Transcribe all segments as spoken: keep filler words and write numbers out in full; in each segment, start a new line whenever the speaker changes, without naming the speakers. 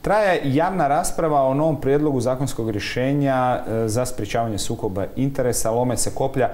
Traje javna rasprava o novom prijedlogu zakonskog rješenja za sprječavanje sukoba interesa. Lome se koplja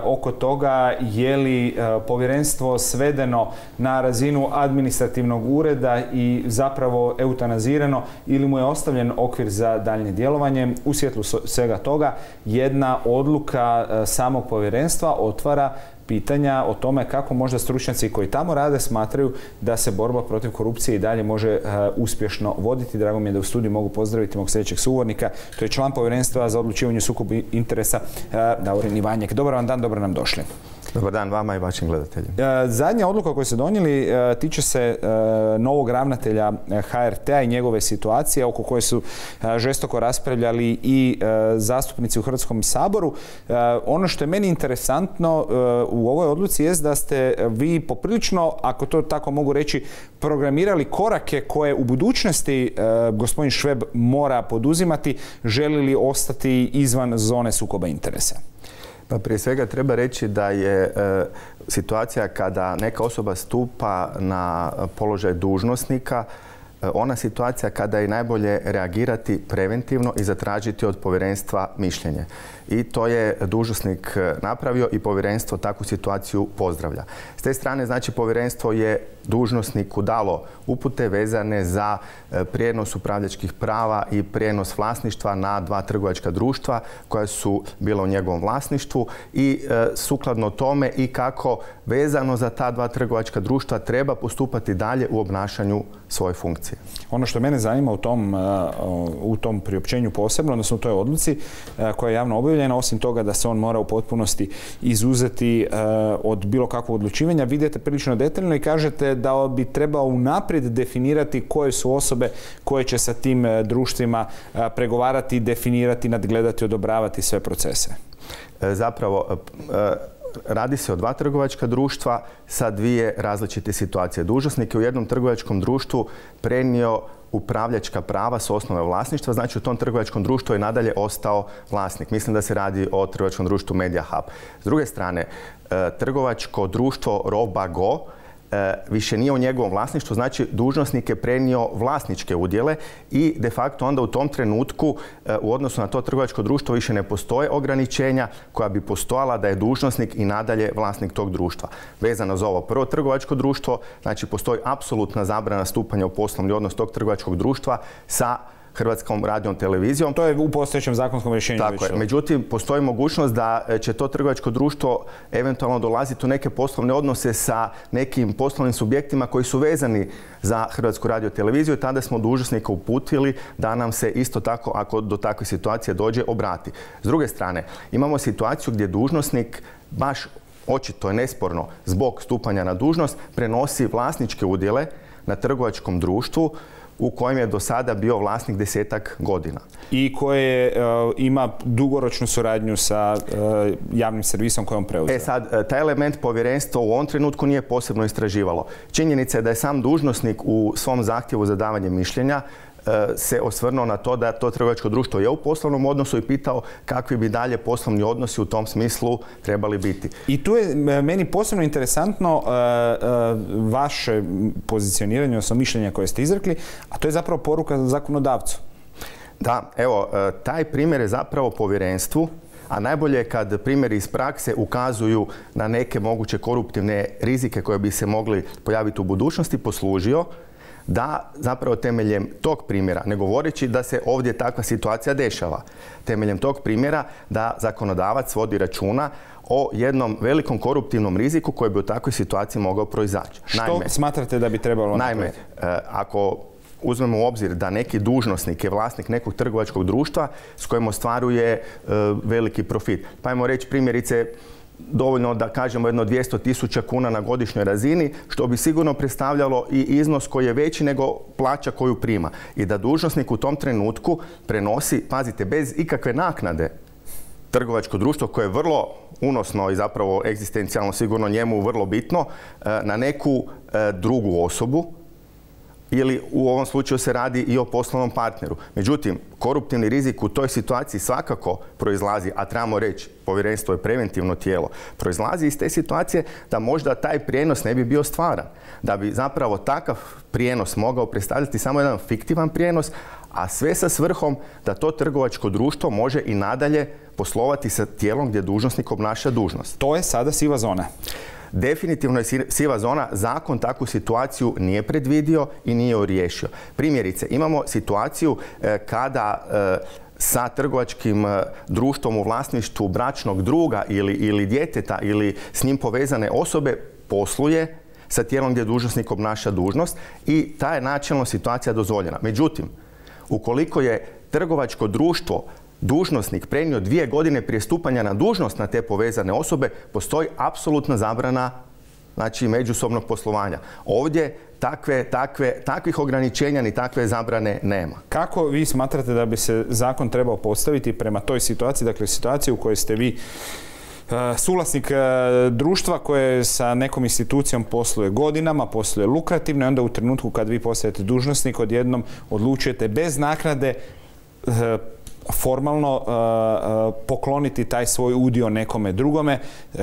oko toga je li povjerenstvo svedeno na razinu administrativnog ureda i zapravo eutanazirano ili mu je ostavljen okvir za daljnje djelovanje. U svjetlu svega toga jedna odluka samog povjerenstva otvara pitanja o tome kako možda stručnjaci koji tamo rade smatraju da se borba protiv korupcije i dalje može uh, uspješno voditi. Drago mi je da u studiju mogu pozdraviti mog sljedećeg sugovornika. To je član povjerenstva za odlučivanje sukoba interesa uh, Davorin Ivanjek. Dobar vam dan, dobro nam došli.
Dobar dan vama i vašim gledateljima.
Uh, zadnja odluka koju ste donijeli uh, tiče se uh, novog ravnatelja H R T-a i njegove situacije oko koje su uh, žestoko raspravljali i uh, zastupnici u Hrvatskom saboru. Uh, ono što je meni interesantno uh, u ovoj odluci jest da ste vi poprilično, ako to tako mogu reći, programirali korake koje u budućnosti uh, gospodin Šveb mora poduzimati, želi li ostati izvan zone sukoba interesa.
Pa prije svega treba reći da je e, situacija kada neka osoba stupa na položaj dužnosnika, e, ona situacija kada je najbolje reagirati preventivno i zatražiti od povjerenstva mišljenje. I to je dužnosnik napravio i povjerenstvo takvu situaciju pozdravlja. S te strane, znači, povjerenstvo je dužnosniku dalo upute vezane za prijenos upravljačkih prava i prijenos vlasništva na dva trgovačka društva koja su bila u njegovom vlasništvu i e, sukladno tome i kako vezano za ta dva trgovačka društva treba postupati dalje u obnašanju svoje funkcije.
Ono što mene zanima u tom, u tom priopćenju posebno, odnosno u toj odluci koja je javno objavljena, osim toga da se on mora u potpunosti izuzeti od bilo kakvog odlučivanja, vidite prilično detaljno i kažete da bi trebao unaprijed definirati koje su osobe koje će sa tim društvima pregovarati, definirati, nadgledati, odobravati sve procese.
Zapravo, radi se o dva trgovačka društva sa dvije različite situacije. Dužnosnik je u jednom trgovačkom društvu prenio upravljačka prava s osnove vlasništva, znači u tom trgovačkom društvu je nadalje ostao vlasnik. Mislim da se radi o trgovačkom društvu Media Hub. S druge strane, trgovačko društvo Robago više nije u njegovom vlasništvu, znači dužnosnik je prenio vlasničke udjele i de facto onda u tom trenutku u odnosu na to trgovačko društvo više ne postoje ograničenja koja bi postojala da je dužnosnik i nadalje vlasnik tog društva. Vezano za ovo prvo trgovačko društvo, znači postoji apsolutna zabrana stupanja u poslovni odnos tog trgovačkog društva sa Hrvatskom radijom televizijom.
To je u postojećem zakonskom rješenju.
Tako je. Međutim, postoji mogućnost da će to trgovačko društvo eventualno dolaziti u neke poslovne odnose sa nekim poslovnim subjektima koji su vezani za Hrvatsku radio televiziju i tada smo dužnosnika uputili da nam se isto tako, ako do takve situacije dođe, obrati. S druge strane, imamo situaciju gdje dužnosnik baš očito je nesporno zbog stupanja na dužnost prenosi vlasničke udjele na trgovačkom društvu u kojem je do sada bio vlasnik desetak godina.
I koje uh, ima dugoročnu suradnju sa uh, javnim servisom kojom preuzeo.
E sad, taj element povjerenstvo u ovom trenutku nije posebno istraživalo. Činjenica je da je sam dužnosnik u svom zahtjevu za davanje mišljenja se osvrnuo na to da to trgovačko društvo je u poslovnom odnosu i pitao kakvi bi dalje poslovni odnosi u tom smislu trebali biti.
I tu je meni posebno interesantno uh, uh, vaše pozicioniranje, odnosno mišljenja koje ste izrekli, a to je zapravo poruka za zakonodavcu.
Da, evo, taj primjer je zapravo povjerenstvu, a najbolje je kad primjeri iz prakse ukazuju na neke moguće koruptivne rizike koje bi se mogli pojaviti u budućnosti, poslužio da zapravo temeljem tog primjera, ne govoreći da se ovdje takva situacija dešava, temeljem tog primjera da zakonodavac vodi računa o jednom velikom koruptivnom riziku koji bi u takvoj situaciji mogao proizaći.
Što naime, smatrate da bi trebalo napraviti?
Naime, ako uzmemo u obzir da neki dužnosnik je vlasnik nekog trgovačkog društva s kojim ostvaruje veliki profit. Pa ajmo reći primjerice, dovoljno da kažemo jedno dvjesto tisuća kuna na godišnjoj razini, što bi sigurno predstavljalo i iznos koji je veći nego plaća koju prima. I da dužnosnik u tom trenutku prenosi, pazite, bez ikakve naknade trgovačko društvo koje je vrlo unosno i zapravo egzistencijalno sigurno njemu vrlo bitno, na neku drugu osobu ili u ovom slučaju se radi i o poslovnom partneru. Međutim, koruptivni rizik u toj situaciji svakako proizlazi, a trebamo reći, povjerenstvo je preventivno tijelo, proizlazi iz te situacije da možda taj prijenos ne bi bio stvaran. Da bi zapravo takav prijenos mogao predstavljati samo jedan fiktivan prijenos, a sve sa svrhom da to trgovačko društvo može i nadalje poslovati sa tijelom gdje dužnosnik obnaša dužnost.
To je sada siva zona.
Definitivno je siva zona. Zakon takvu situaciju nije predvidio i nije ju riješio. Primjerice, imamo situaciju kada sa trgovačkim društvom u vlasništvu bračnog druga ili, ili djeteta ili s njim povezane osobe posluje sa tijelom gdje dužnosnik obnaša dužnost i ta je načelno situacija dozvoljena. Međutim, ukoliko je trgovačko društvo dužnosnik prenio dvije godine prije stupanja na dužnost na te povezane osobe, postoji apsolutna zabrana, znači, međusobnog poslovanja. Ovdje takve, takve, takvih ograničenja ni takve zabrane nema.
Kako vi smatrate da bi se zakon trebao postaviti prema toj situaciji, dakle situaciji u kojoj ste vi suvlasnik društva koje sa nekom institucijom posluje godinama, posluje lukrativno i onda u trenutku kad vi postajete dužnosnik odjednom odlučujete bez naknade formalno uh, pokloniti taj svoj udio nekome drugome.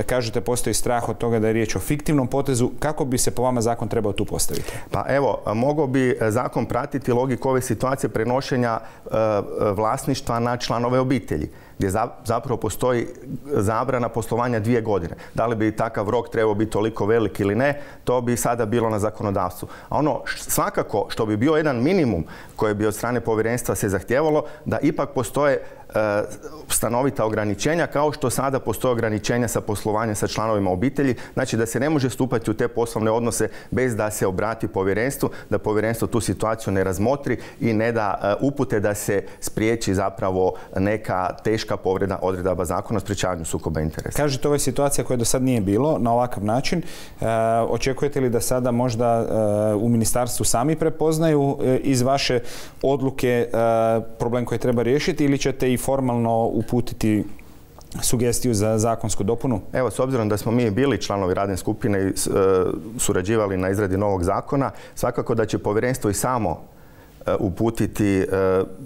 Kažete, postoji strah od toga da je riječ o fiktivnom potezu. Kako bi se po vama zakon trebao tu postaviti?
Pa evo, mogao bi zakon pratiti logiku ove situacije prenošenja uh, vlasništva na članove obitelji, gdje zapravo postoji zabrana poslovanja dvije godine. Da li bi takav rok trebao biti toliko velik ili ne, to bi sada bilo na zakonodavstvu. A ono svakako što bi bio jedan minimum koji bi od strane povjerenstva se zahtijevalo, da ipak postoje stanovita ograničenja, kao što sada postoje ograničenja sa poslovanjem sa članovima obitelji, znači da se ne može stupati u te poslovne odnose bez da se obrati povjerenstvu, da povjerenstvo tu situaciju ne razmotri i ne da upute da se spriječi zapravo neka teška povreda odredaba zakona o sprječavanju sukoba interesa.
Kažete, ovo je situacija koja do sad nije bilo na ovakav način. E, očekujete li da sada možda e, u ministarstvu sami prepoznaju e, iz vaše odluke e, problem koji treba riješiti ili ćete i formalno uputiti sugestiju za zakonsku dopunu?
Evo, s obzirom da smo mi bili članovi radne skupine i surađivali na izradi novog zakona, svakako da će povjerenstvo i samo uputiti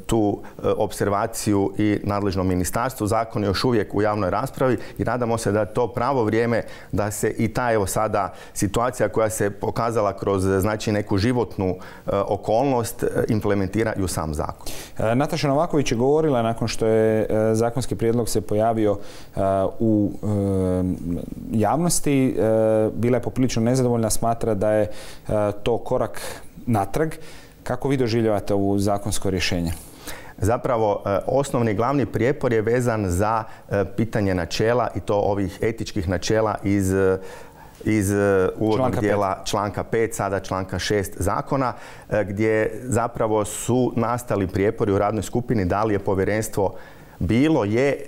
tu opservaciju i nadležnom ministarstvu. Zakon je još uvijek u javnoj raspravi i nadamo se da je to pravo vrijeme da se i ta evo sada situacija koja se pokazala kroz znači neku životnu okolnost implementira i u sam zakon.
Nataša Novaković je govorila nakon što je zakonski prijedlog se pojavio u javnosti. Bila je poprilično nezadovoljna, smatra da je to korak natrag. Kako vi doživljavate ovo zakonsko rješenje?
Zapravo, osnovni glavni prijepor je vezan za pitanje načela i to ovih etičkih načela iz iz uvodnog dijela članka pet, sada članka šest zakona, gdje zapravo su nastali prijepori u radnoj skupini da li je povjerenstvo bilo, je,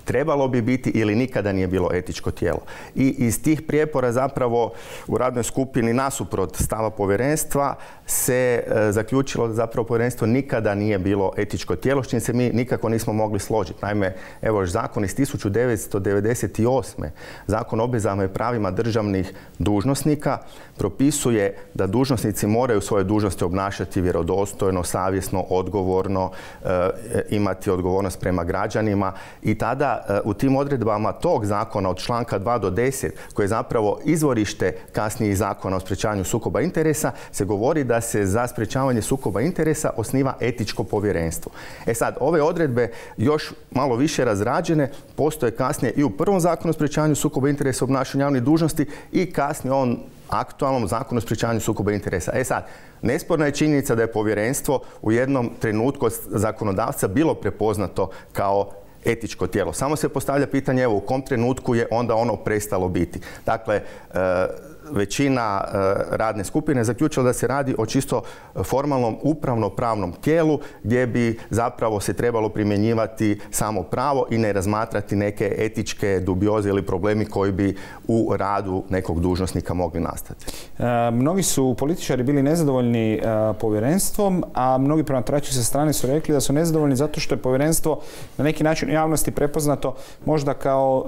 trebalo bi biti ili nikada nije bilo etičko tijelo. I iz tih prijepora zapravo u radnoj skupini nasuprot stava povjerenstva se e, zaključilo da zapravo povjerenstvo nikada nije bilo etičko tijelo, s čim se mi nikako nismo mogli složiti. Naime, evo zakon iz tisuću devetsto devedeset osme. Zakon o obvezama i pravima državnih dužnosnika propisuje da dužnosnici moraju svoje dužnosti obnašati vjerodostojno, savjesno, odgovorno, e, imati odgovornost prema građanima i tada u tim odredbama tog zakona od članka dva do deset, koje je zapravo izvorište kasnijih zakona o sprječavanju sukoba interesa, se govori da se za sprječavanje sukoba interesa osniva etičko povjerenstvo. E sad, ove odredbe još malo više razrađene postoje kasnije i u prvom zakonu o sprječavanju sukoba interesa obnašanju javnih dužnosti i kasnije on aktualnom zakonu o sprječavanju sukoba interesa. E sad, nesporna je činjenica da je povjerenstvo u jednom trenutku od zakonodavca bilo prepoznato kao etičko tijelo. Samo se postavlja pitanje, evo, u kom trenutku je onda ono prestalo biti. Dakle, e, većina e, radne skupine zaključila da se radi o čisto formalnom upravno-pravnom tijelu gdje bi zapravo se trebalo primjenjivati samo pravo i ne razmatrati neke etičke dubioze ili problemi koji bi u radu nekog dužnosnika mogli nastati.
E, mnogi su političari bili nezadovoljni e, povjerenstvom, a mnogi promatrači sa strane su rekli da su nezadovoljni zato što je povjerenstvo na neki način u javnosti prepoznato možda kao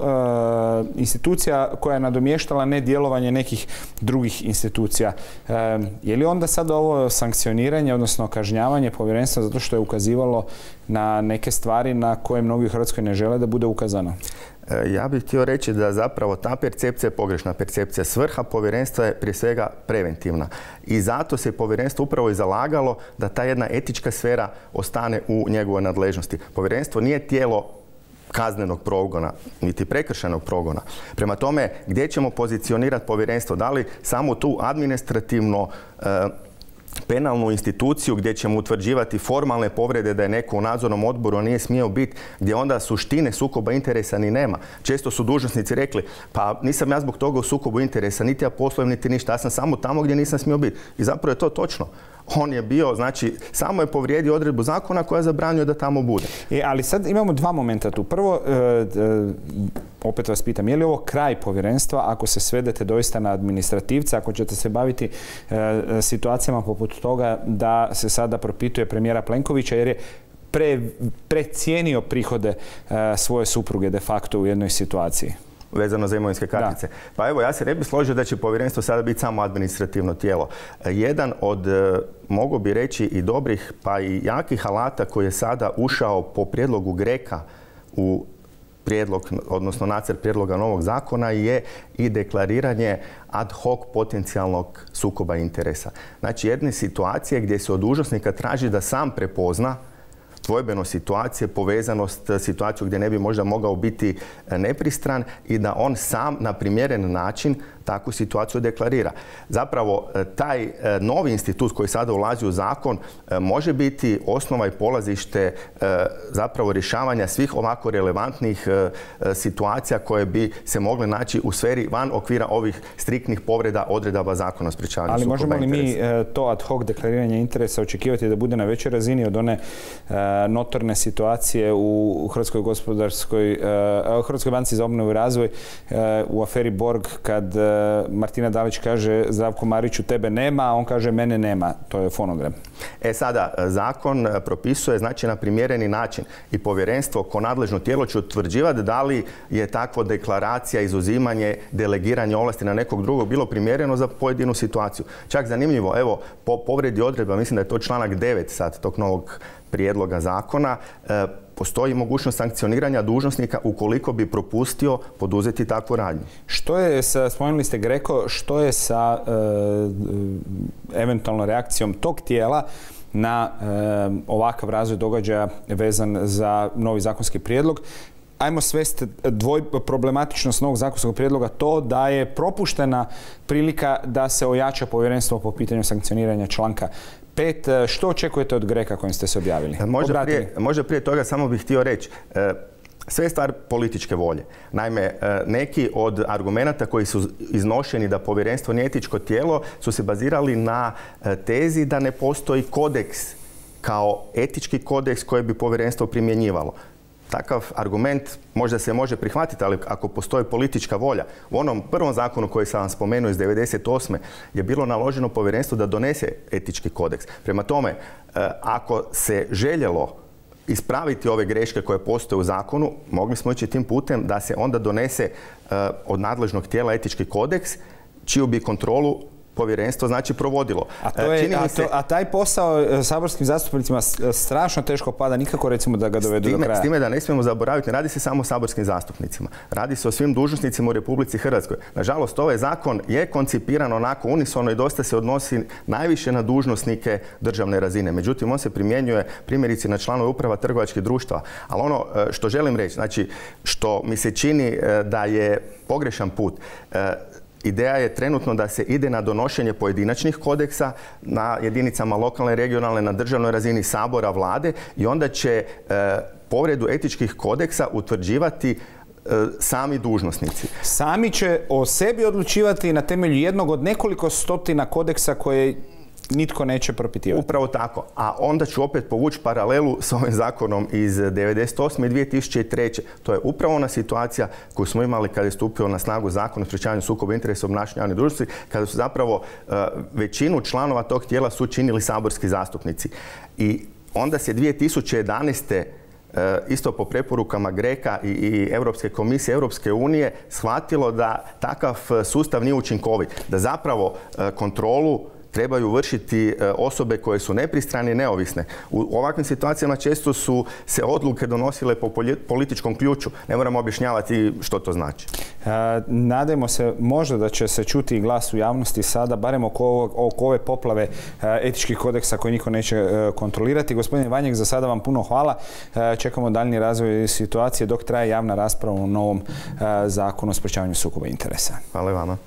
e, institucija koja je nadomještala nedjelovanje nekih nekih drugih institucija. E, je li onda sad ovo sankcioniranje, odnosno kažnjavanje povjerenstva zato što je ukazivalo na neke stvari na koje mnogi u Hrvatskoj ne žele da bude ukazano?
Ja bih htio reći da zapravo ta percepcija je pogrešna percepcija. Svrha povjerenstva je prije svega preventivna. I zato se povjerenstvo upravo i zalagalo da ta jedna etička sfera ostane u njegovoj nadležnosti. Povjerenstvo nije tijelo kaznenog progona, niti prekršajnog progona. Prema tome, gdje ćemo pozicionirati povjerenstvo? Da li samo tu administrativno e, penalnu instituciju gdje ćemo utvrđivati formalne povrede da je neko u nadzornom odboru, a nije smio biti, gdje onda suštine sukoba interesa ni nema. Često su dužnosnici rekli, pa nisam ja zbog toga u sukobu interesa, niti ja poslujem, niti ništa, ja sam samo tamo gdje nisam smio biti. I zapravo je to točno. On je bio, znači, samo je povrijedio odredbu zakona koja zabranjuje da tamo bude.
E, ali sad imamo dva momenta tu. Prvo, e, e, opet vas pitam, je li ovo kraj povjerenstva ako se svedete doista na administrativca, ako ćete se baviti e, situacijama poput toga da se sada propituje premijera Plenkovića jer je pre, precijenio prihode e, svoje supruge de facto u jednoj situaciji?
Vezano za imovinske kartice. Da. Pa evo, ja se ne bih složio da će povjerenstvo sada biti samo administrativno tijelo. Jedan od, mogu bi reći, i dobrih pa i jakih alata koji je sada ušao po prijedlogu GRECO-a u prijedlog, odnosno nacrt prijedloga novog zakona je i deklariranje ad hoc potencijalnog sukoba interesa. Znači, jedne situacije gdje se od dužnosnika traži da sam prepozna dvojbeno situacije, povezanost, situaciju gdje ne bi možda mogao biti nepristran i da on sam na primjeren način takvu situaciju deklarira. Zapravo, taj novi institut koji sada ulazi u zakon može biti osnova i polazište zapravo rješavanja svih ovako relevantnih situacija koje bi se mogle naći u sferi van okvira ovih striktnih povreda odredaba zakona o sprječavanju sukoba interesa.
Ali možemo li mi to ad hoc deklariranje interesa očekivati da bude na većoj razini od one notorne situacije u Hrvatskoj gospodarskoj, u Hrvatskoj banci za obnovu i razvoj u aferi Borg kad Martina Dalić kaže Zdravku Mariću tebe nema, a on kaže mene nema. To je fonogram.
E sada, zakon propisuje znači na primjereni način i povjerenstvo ko nadležno tijelo će utvrđivati da li je takva deklaracija, izuzimanje, delegiranje ovlasti na nekog drugog bilo primjereno za pojedinu situaciju. Čak zanimljivo, evo, po povredi odredba, mislim da je to članak devet sad tog novog prijedloga zakona, e, postoji mogućnost sankcioniranja dužnosnika ukoliko bi propustio poduzeti takvu radnju.
Što je sa, spomenuli ste GRECO, što je sa e, eventualno reakcijom tog tijela na e, ovakav razvoj događaja vezan za novi zakonski prijedlog? Ajmo svesti dvoj problematičnost novog zakonskog prijedloga to da je propuštena prilika da se ojača povjerenstvo po pitanju sankcioniranja članka pet. Što očekujete od GRECO-a kojim ste se objavili?
Možda prije, možda prije toga samo bih htio reći. Sve je stvar političke volje. Naime, neki od argumenata koji su iznošeni da povjerenstvo nije etičko tijelo su se bazirali na tezi da ne postoji kodeks kao etički kodeks koji bi povjerenstvo primjenjivalo. Takav argument možda se može prihvatiti, ali ako postoji politička volja. U onom prvom zakonu koji sam vam spomenuo iz devedeset osme je bilo naloženo povjerenstvu da donese etički kodeks. Prema tome, ako se željelo ispraviti ove greške koje postoje u zakonu, mogli smo ići tim putem da se onda donese od nadležnog tijela etički kodeks, čiju bi kontrolu povjerenstvo znači provodilo.
A, to je, a, to, a taj posao saborskim zastupnicima strašno teško pada, nikako recimo da ga dovedu do kraja.
S time da ne smijemo zaboraviti, ne radi se samo o saborskim zastupnicima. Radi se o svim dužnosnicima u Republici Hrvatskoj. Nažalost, ovaj zakon je koncipiran onako unisono i dosta se odnosi najviše na dužnosnike državne razine. Međutim, on se primjenjuje primjerice na članove uprava trgovačkih društava. Ali ono što želim reći, znači što mi se čini da je pogrešan put, ideja je trenutno da se ide na donošenje pojedinačnih kodeksa na jedinicama lokalne, regionalne, na državnoj razini Sabora, Vlade i onda će e, povredu etičkih kodeksa utvrđivati e, sami dužnosnici.
Sami će o sebi odlučivati na temelju jednog od nekoliko stotina kodeksa koje nitko neće propitivati.
Upravo tako. A onda ću opet povući paralelu s ovim zakonom iz devedeset osme i dvije tisuće treće. To je upravo ona situacija koju smo imali kada je stupio na snagu zakon o sprječavanju sukoba interesa u obnašanju javnih dužnosti, kada su zapravo uh, većinu članova tog tijela su činili saborski zastupnici. I onda se dvije tisuće jedanaeste isto po preporukama GRECO-a i Europske komisije, Europske unije, shvatilo da takav sustav nije učinkovit, da zapravo kontrolu trebaju vršiti osobe koje su nepristrane i neovisne. U ovakvim situacijama često su se odluke donosile po političkom ključu. Ne moramo objašnjavati što to znači.
Nadajmo se možda da će se čuti i glas u javnosti sada, barem oko, oko ove poplave etičkih kodeksa koje niko neće kontrolirati. Gospodine Vanjek, za sada vam puno hvala. Čekamo daljnji razvoj situacije dok traje javna rasprava u novom zakonu o sprečavanju sukoba interesa.
Hvala vama.